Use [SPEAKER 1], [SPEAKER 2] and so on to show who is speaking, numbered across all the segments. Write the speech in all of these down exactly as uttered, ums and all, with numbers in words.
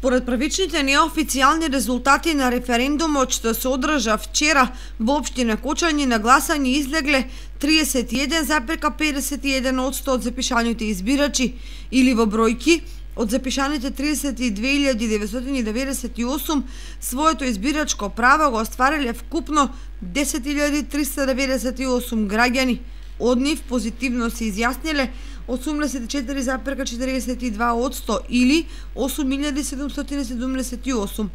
[SPEAKER 1] Според првичните неофицијални резултати на референдумот што се одржа вчера во општина Кочани, на гласање излегле триесет и еден запирка педесет и еден одсто од запишаните избирачи, или во бројки од запишаните триесет и две илјади деветстотини деветдесет и осум своето избирачко право го оствариле вкупно десет илјади триста деветдесет и осум граѓани. Од нив позитивно се изјасниле осумдесет и четири запирка четиридесет и два одсто или осум илјади седумстотини седумдесет и осум.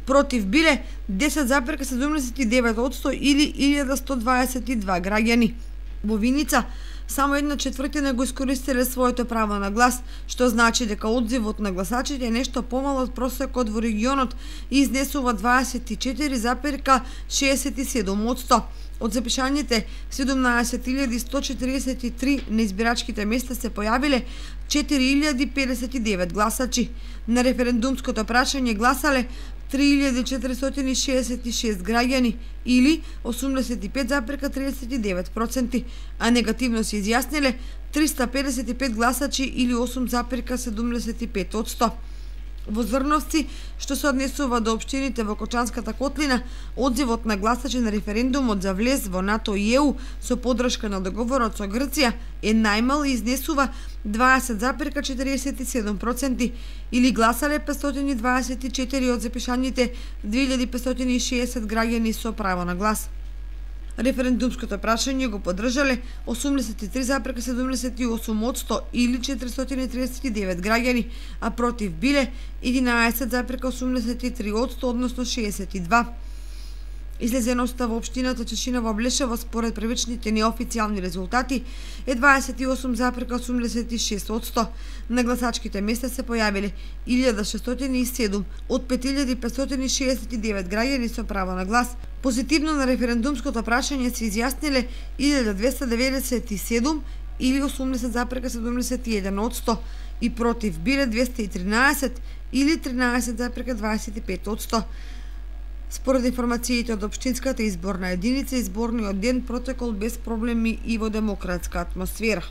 [SPEAKER 1] Против биле десет запирка седумдесет и девет одсто или илјада сто дваесет и два граѓани. Во Виница само една четвртина го искористиле своето право на глас, што значи дека одзивот на гласачите е нешто помало од просекот во регионот и изнесува дваесет и четири запирка шеесет и седум одсто. Од запишаните седумнаесет илјади сто четиридесет и три на избирачките места се појавиле четири илјади педесет и девет гласачи. На референдумското прашање гласале три илјади четиристотини шеесет и шест граѓани или осумдесет и пет запирка триесет и девет проценти, а негативно се изјасниле триста педесет и пет гласачи или осум запирка седумдесет и пет одсто. Во Зрновци, што се однесува до општините во Кочанската котлина, одзивот на гласачи на референдумот за влез во НАТО и Е У со поддршка на договорот со Грција е најмал и изнесува дваесет запирка четиредесет и седум проценти, или гласале петстотини дваесет и четири од запишаните две илјади петстотини и шеесет граѓани со право на глас. Референдумското прашање го поддржале осумдесет и три запирка седумдесет и осум одсто или четиристотини триесет и девет граѓани, а против биле единаесет запирка осумдесет и три одсто, односно шеесет и два. Излезеноста во општината Чешина во Блешево според првичните неофицијални резултати е дваесет и осум запирка осумдесет и шест одсто. На гласачките места се појавиле илјада шестстотини и седум од пет илјади петстотини шеесет и девет граѓани со право на глас. Позитивно на референдумското прашање се изјасниле илјада двеста деветдесет и седум или осумдесет запирка седумдесет и еден одсто и против биле двеста и тринаесет или тринаесет запирка дваесет и пет одсто. Според информациите од општинската изборна единица, изборниот ден протекол без проблеми и во демократска атмосфера.